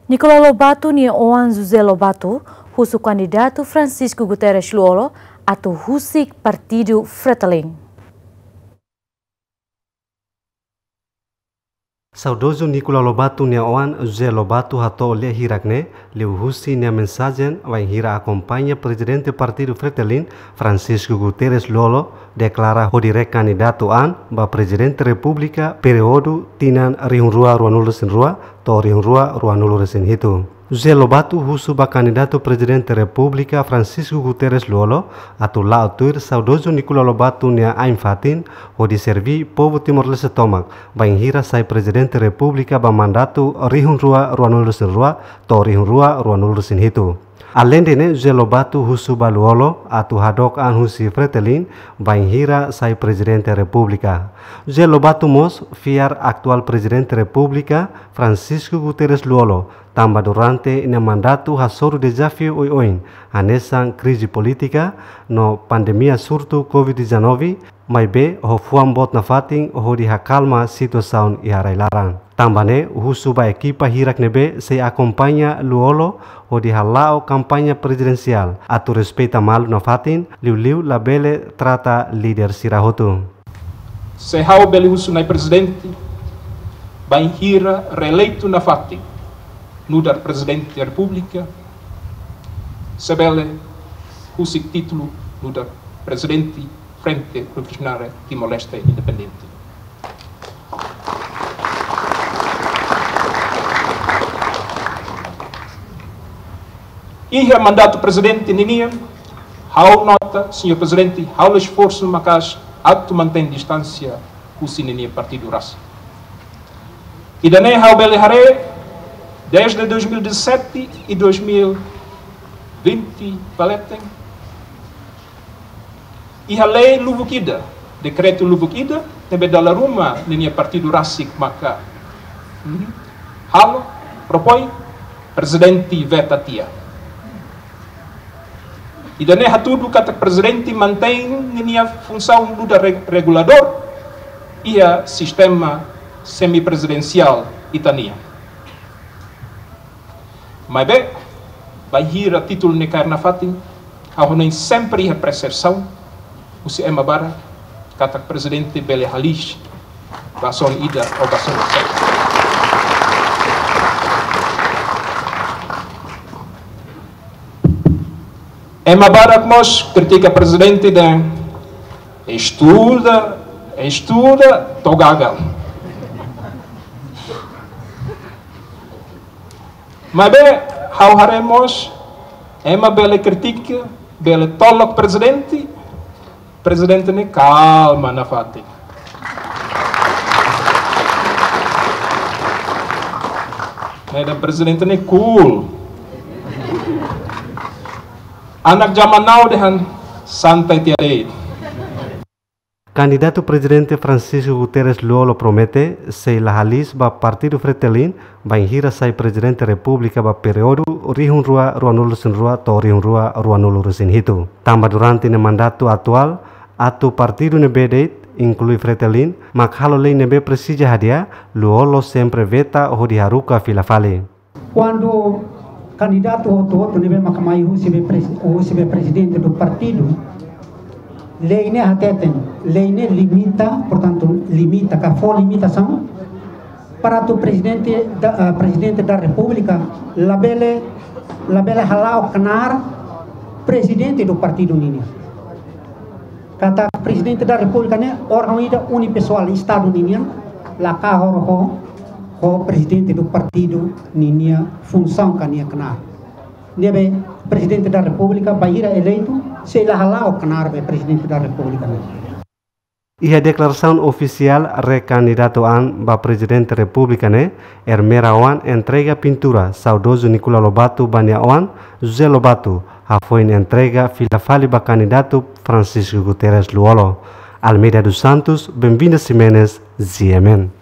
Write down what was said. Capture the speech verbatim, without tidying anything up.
Nicolau Lobato nia oan José Lobato husu kandidatu Francisco Guterres Lú-Olo atu husik partidu Fretilin. Saudozu Nicolau Lobato nia oan José Lobato hato'o lia hirak-ne'e liuhusi nia mensajen bainhira akompaña prezidente partidu Fretilin, Francisco Guterres Lú-Olo, deklara hodi rekandidatu an ba Prezidente Repúblika períodu tinan rihun rua ruanulu-resin-rua to'o rihun rua ruanulu-resin-hitu. José Lobato husu ba kandidatu Prezidente Repúblika Francisco Guterres Lú-Olo atu la'o tuir saudozu Nicolau Lobato nia ain-fatin hodi serví povu Timor-Leste tomak bainhira sai Prezidente Repúblika ba mandatu rihun rua ruanulu-resin-rua to'o rihun rua ruanulu-resin-hitu. Aleinde ne'e, José Lobato husu ba Lú-Olo atu hadook an husi Fretilin bainhira sai Prezidente Repúblika. José Lobato mós fiar atuál Prezidente Repúblika Francisco Guterres Lú-Olo, tanba durante nia mandatu hasoru dezafiu oioin, hanesan krize polítika no pandemia surtu covid dezanove, maibé ho fuan boot nafatin hodi hakalma situasaun iha rai-laran. Tanba ne'e, husu ba ekipa hirak ne'ebé sei akompaña Lú-Olo hodi hala'o kampaña prezidensiál atu respeita malu nafatin, liuliu labele trata líder sira hotu. Se ha'u bele husu Na'i Prezidente, bainhira reeleitu nafatin nu'udar Prezidente Repúblika, se bele husik títulu nu'udar Prezidente Frente Revolucionária Timor-Leste Independente. Iha mandatu prezidente ninian, ha'u nota, señór Prezidente, halo esforsu maka'as atu mantein distánsia husi ninia partidu rasik. Ida-ne'e ha'u bele haree desde dois mil e dezassete e dois mil e vinte ba leten. Iha lei lubuk ida, dekretu lubuk ida, ne'ebé dala ruma ninia partidu rasik maka, mhm, halo, propoin, prezidente veta tiha. Ida-ne'e hatudu katak prezidente mantein ninia funsaun nu'udar re-, reguladór iha sistema semiprezidensiál ita-nian. Maibé, bainhira títulu ne'e kaer nafatin, ha'u hanoin sempre iha persepsaun husi ema barak katak prezidente bele halis ba zona ida ou ba zona ida. Ema barak mós kritika prezidente dehan estuda, estuda, to'o gagal. Maibé, ha'u haree mós, ema bele kritika, bele tolok prezidente, prezidente ne'e kalma nafatin. Ne'e dehan prezidente ne'e cool. Anak zaman now dehan santai tiha de'it. Kandidatu Prezidente Francisco Guterres Lú-Olo promete sei la halis ba partidu Fretilin bainhira sai Prezidente Repúblika ba períodu rihun rua ruanulu-resin-rua to'o rihun rua ruanulu-resin-hitu. Tanba durante nia mandatu atuál, atu partidu ne'ebé de'it, inklui Fretilin, mak halo lei ne'ebé presiza hadi'a, Lú-Olo sempre veta hodi haruka fila fali. Kuandu kandidatu hotu-hotu ne'ebé maka mai husi be pres-, husi be prezidente do partidu, lei ne'e hateten, lei ne'e limita, portantu, limita, ka fó limitasaun para atu prezidente da, ah, prezidente da Repúblika labele, labele hala'o knaar prezidente do partidu nian. Katak Prezidente da Repúblika ne'e órgaun ida unipesoál Estadu ninian, la kahur ho, ho prezidente do partidu ninia funsaun ka nia knaar. Ne'ebé Prezidente da Repúblika bainhira eleitu, sei la hala'o knaar be Prezidente da Repúblika ne'e. Iha deklarasaun ofisiál rekandidatu an ba Prezidente Repúblika ne'e, Ermera Oan entrega pintura saudozu Nicolau Lobato ba nia oan, José Lobato, hafoin entrega fila fali ba kandidatu Francisco Guterres Lú-Olo. Almeida dos Santos, Benvinda Ximenes, G M N.